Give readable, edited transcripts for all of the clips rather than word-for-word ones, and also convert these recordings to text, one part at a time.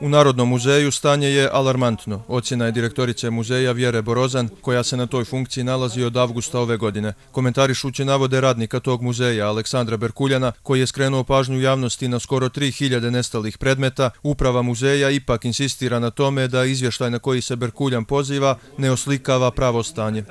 U Narodnom muzeju stanje je alarmantno. Ocjena je direktorice muzeja Vjere Borozan, koja se na toj funkciji nalazi od avgusta ove godine. Komentarišući navode radnika tog muzeja, Aleksandra Berkuljana, koji je skrenuo pažnju javnosti na skoro 3000 nestalih predmeta, uprava muzeja ipak insistira na tome da izvještaj na koji se Berkuljan poziva ne oslikava pravo stanje.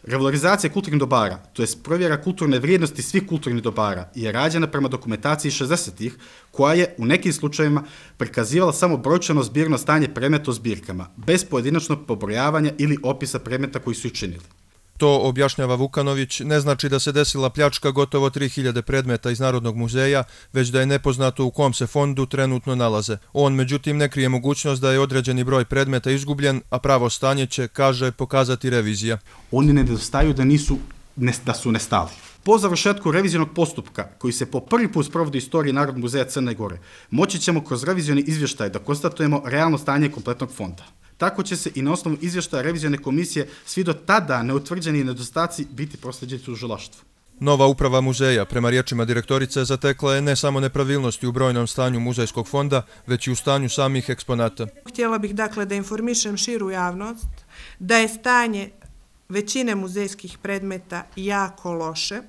Revalorizacija kulturnih dobara, to jest provjera kulturne vrijednosti svih kulturnih dobara, je rađena prema dokumentaciji 60-ih, koja je u nekim slučajevima prikazivala samo brojčano zbirno stanje predmeta u zbirkama, bez pojedinačnog pobrojavanja ili opisa predmeta koji su ih činili. To, objašnjava Vukanović, ne znači da se desila pljačka gotovo 3000 predmeta iz Narodnog muzeja, već da je nepoznato u kom se fondu trenutno nalaze. On, međutim, ne krije mogućnost da je određeni broj predmeta izgubljen, a pravo stanje će, kaže, pokazati revizija. Oni ne nedostaju da su nestali. Po završetku revizionog postupka, koji se po prvi put sprovodi u istoriji Narodnog muzeja Crne Gore, moći ćemo kroz revizioni izvještaj da konstatujemo realno stanje kompletnog fonda. Tako će se i na osnovu izvještaja revizione komisije svi do tada neutvrđeni nedostaci biti proslijeđeni tužilaštvu. Nova uprava muzeja, prema riječima direktorice, zatekla je ne samo nepravilnosti u brojnom stanju muzejskog fonda, već i u stanju samih eksponata. Htjela bih dakle da informišem širu javnost da je stanje većine muzejskih predmeta jako loše,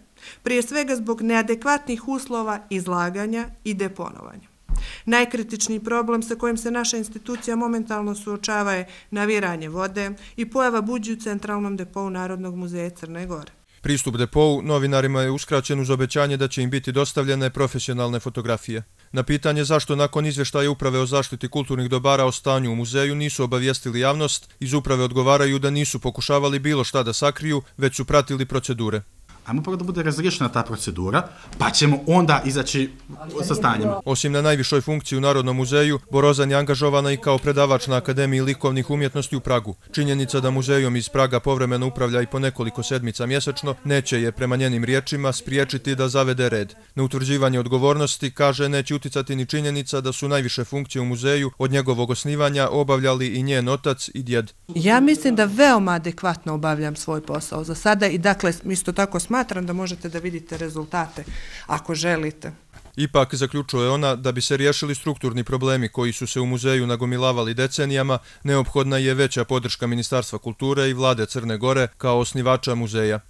prije svega zbog neadekvatnih uslova izlaganja i deponovanja. Najkritičniji problem sa kojim se naša institucija momentalno suočava je naviranje vode i pojava buđi u centralnom depou Narodnog muzeja Crne Gore. Pristup depou novinarima je uskraćen uz obećanje da će im biti dostavljene profesionalne fotografije. Na pitanje zašto nakon izvještaja Uprave o zaštiti kulturnih dobara o stanju u muzeju nisu obavijestili javnost, iz uprave odgovaraju da nisu pokušavali bilo šta da sakriju, već su pratili procedure. Ajmo prvo da bude razriješena ta procedura, pa ćemo onda izaći sa stanjem. Osim na najvišoj funkciji u Narodnom muzeju, Borozan je angažovana i kao predavač na Akademiji likovnih umjetnosti u Pragu. Činjenica da muzejom iz Praga povremeno upravlja i po nekoliko sedmica mjesečno, neće je, prema njenim riječima, spriječiti da zavede red. Na utvrđivanje odgovornosti, kaže, neće uticati ni činjenica da su najviše funkcije u muzeju od njegovog osnivanja obavljali i njen otac i djed. Ja mislim da veoma adekvatno obavljam svoj posao za sada i dakle isto tako smatram da možete da vidite rezultate ako želite. Ipak, zaključuje ona, da bi se riješili strukturni problemi koji su se u muzeju nagomilavali decenijama, neophodna je veća podrška Ministarstva kulture i vlade Crne Gore kao osnivača muzeja.